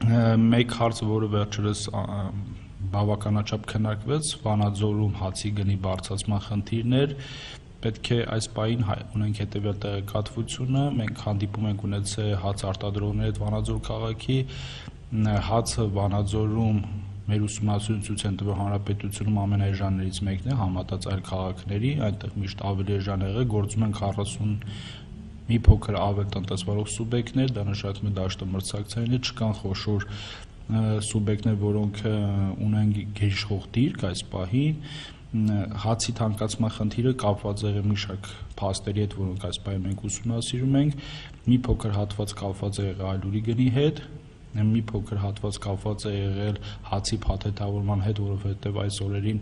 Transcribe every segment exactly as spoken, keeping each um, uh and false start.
Մեկ հարցը, որը վերջերս բավականաչափ քննարկվեց, Վանաձորում հացի գնի բարձրացման խնդիրն էր, պետք է այս պահին ունենք հետևյալ տեղեկատվությունը, մենք հանդիպում ենք ունեցել հաց արտադրողների հետ Վանաձոր քաղաքի, հացը Վանաձորում մեր ուսումնասիրությունները ցույց են տվել հանրապետությունում ամենաէժաններից մեկն է, համատած այլ քաղաքների, այնտեղ միշտ ավելի էժան եղել, գործում են քառասուն մի փոքր ավել տնտեսվարող սուբյեկտներ, դա նշանակում է դաշտը մրցակցային, չկան խոշոր սուբյեկտներ, որոնք ունեն գերիշխող դիրք այս պահին, հացի թանկացման խնդիրը կապված եղել մի շարք փաստերի հետ, որոնք այս պահին մենք ուսումնասիրում ենք, մի փոքր հատված կապված է եղել այլուրի գնի հետ, մի փոքր հատված կապված է եղել հացի փաթեթավորման հետ, որովհետև այս օրերին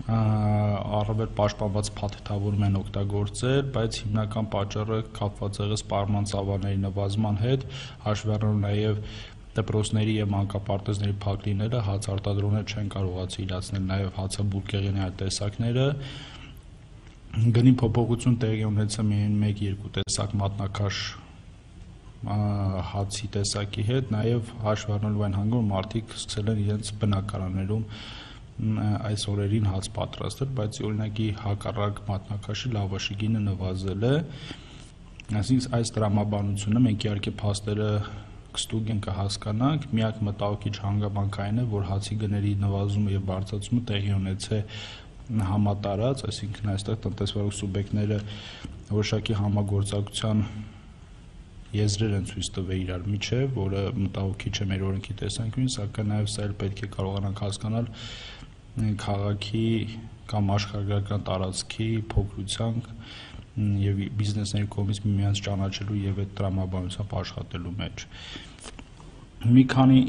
առավել պաշտպանված փաթեթավորում են օգտագործել, բայց հիմնական պատճառը կապված եղել սպառման ծավալների նվազման հետ, հաշվի առնելով նաև դպրոցների և մանկապարտեզների փակ լինելը, հաց արտադրողները չեն կարողացել իրացնել նաև հացաբուրգեղենի այլ տեսակները, գնի փոփոխություն տեղի ունեցել միայն մեկ-երկու տեսակ մատնաքաշ հացի տեսակի հետ, նաև հաշվի առնելով այն հանգում, որ մարդիկ սկսել են իրենց բնակարաններում այս օրերին հաց պատրաստել, բայց օրինակի հակառակ մատնաքաշի լավաշի գինը նվազել է, այսինքն այս տրամաբանությունը մենք իհարկե փաստերը կստուգ ենք կհասկանանք, միակ մտահոգիչ հանգամանքային է, որ հացի գների նվազումը և բարձրացումը տեղի ունեցել համատարած, այսինքն այստեղ տնտեսվարող սուբյեկտները որոշակի համագործակցության եզրեր են ցույց տվել իրար միջև, որը մտահոգիչ է մեր օրենքի տեսանկյունից, սակայն նաև սա էլ պետք է կարողանանք հասկանալ քաղաքի կամ աշխարհագրական տարածքի փոքրության և բիզնեսների կողմից միմյանց ճանաչելու և այդ տրամաբանությամբ աշխատելու մեջ։ Մի քանի